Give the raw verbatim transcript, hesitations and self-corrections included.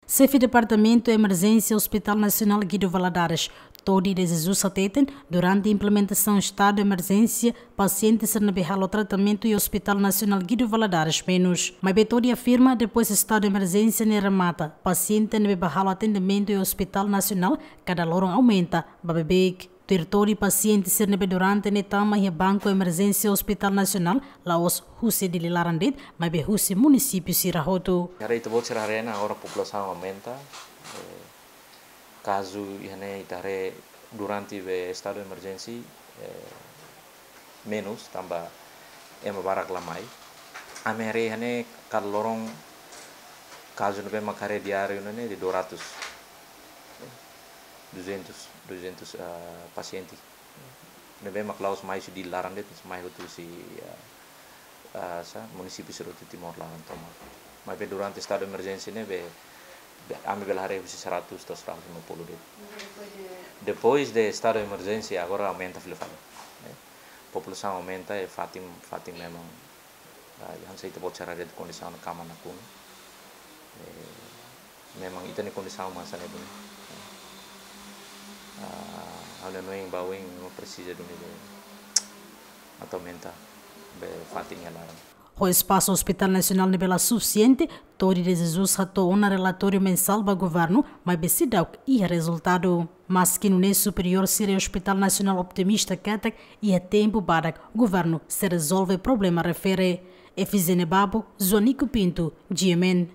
Xefe Departamentu Emerjénsia Hospital Nasionál Guido Valadares, Todi de Jesus hateten, durante implementasaun estadu de emerjénsia, pasiente sira ne'ebé halo tratamentu iha Hospital Nasionál Guido Valadares menus. Maibé Todi afirma, depois estadu de emerjénsia ne'e remata, pasiente ne'ebé bá halo atendimentu iha Hospital Nasionál kada loron aumenta ba beibeik. Tuir Todi, pasiente sira ne'ebé durante ne'e tama iha banku emerjénsia Hospital Nasionál la'ós husi Dili laran de'it, maibé husi munisípiu sira hotu. Haree ita-boot sira haree ona, agora populasaun aumenta, eh, kazu iha ne'e ita haree durante be estadu emerjénsia, eh, menus, tanba ema barak la mai. Ami haree iha ne'e kada loron kazu ne'ebé mak haree diáriu ne'e de dua ratus, duzentos, duzentos, ah, pasiente. Ne'ebé mak la'ós mai husi Dili laran de'it, mai hotu husi, ah, ah, sá, munisípiu sira hotu Timor laran tomak. Maibé durante estadu de emerjénsia ne'e be, be, ami bele haree husi seratus to'o seratus lima puluh de'it. Depois de estadu de emerjénsia, agora aumenta fila fali, ne'e. Populasaun aumenta, i fatin, fatin memang, ah, hanesan ita-boot sira haree kondisaun kama nakonu. Eh, memang ita-nia kondisaun mak hanesan ne'e duni. Ah, ha'u-nia hanoin ba oin memang presiza duni be atu aumenta be fatin iha laran. Ho espasu Hospital Nasionál ne'ebé la sufisiente, Todi de Jesus hato'o ona relatóriu mensál ba governu, maibé seidauk iha rezultadu. Maski nune'e, superiór sira iha Hospital Nasionál optimista katak iha tempu badak governu sei rezolve problema refere. Efizene Babo, Joanico Pinto, G M N.